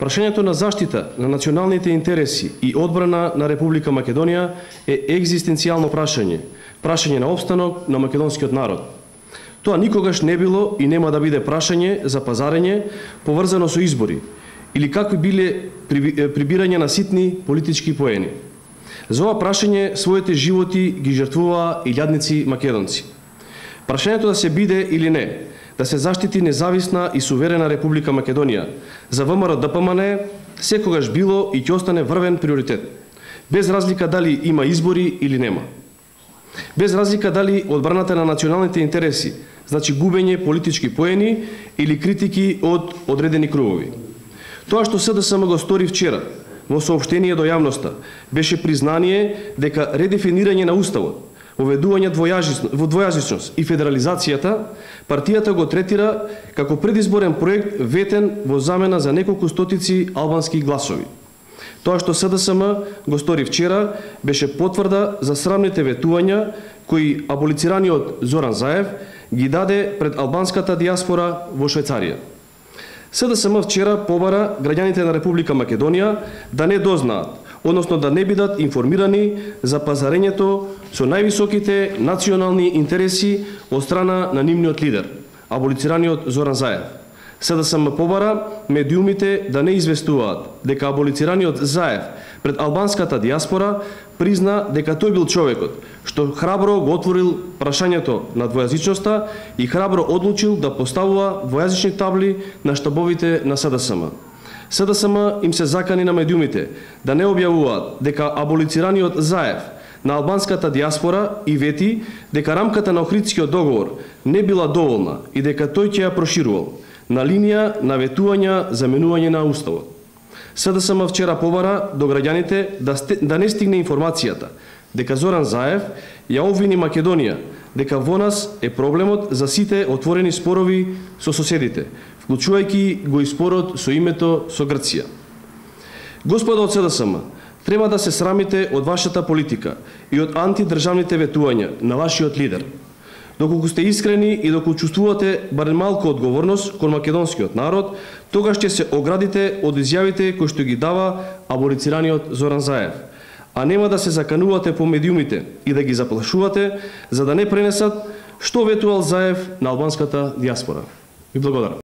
Прашањето на заштита на националните интереси и одбрана на Република Македонија е екзистенцијално прашање на опстанок на македонскиот народ. Тоа никогаш не било и нема да биде прашање за пазарење поврзано со избори или какви биле прибирање на ситни политички поени. За ова прашање своите животи ги жртвуваа илјадници македонци. Прашањето да се биде или не, да се заштити независна и суверена Република Македонија, за ВМРО ДПМН секогаш било и ќе остане врвен приоритет, без разлика дали има избори или нема. Без разлика дали одбраната на националните интереси значи губење политички поени или критики од одредени кругови. Тоа што СДСМ го стори вчера во соопштение до јавноста беше признание дека редефинирање на уставот, воведување во двојазичност и федерализацијата, партијата го третира како предизборен проект ветен во замена за неколку стотици албански гласови. Тоа што СДСМ го стори вчера беше потврда за срамните ветувања кои аболицираниот Зоран Заев ги даде пред албанската диаспора во Швајцарија. СДСМ вчера побара граѓаните на Република Македонија да не дознаат, односно да не бидат информирани за пазарењето со највисоките национални интереси од страна на нивниот лидер, аболицираниот Зоран Заев. СДСМ побара медиумите да не известуваат дека аболицираниот Заев пред албанската диаспора призна дека тој бил човекот што храбро го отворил прашањето на двојазичноста и храбро одлучил да поставува двојазични табли на штабовите на СДСМ. СДСМ им се закани на медиумите да не објавуваат дека аболицираниот Заев на албанската диаспора и вети дека рамката на Охридскиот договор не била доволна и дека тој ќе ја проширувал на линија на ветувања за менување на уставот. СДСМ вчера побара до граѓаните да не стигне информацијата дека Зоран Заев ја обвини Македонија дека во нас е проблемот за сите отворени спорови со соседите, вклучувајќи го и спорот со името со Грција. Господа од СДСМ, треба да се срамите од вашата политика и од антидржавните ветувања на вашиот лидер. Доколку сте искрени и доколку чувствувате барем малку одговорност кон македонскиот народ, тогаш ќе се оградите од изјавите кои што ги дава аболицираниот Зоран Заев, а нема да се заканувате по медиумите и да ги заплашувате за да не пренесат што ветувал Заев на албанската диаспора. Ви благодарам.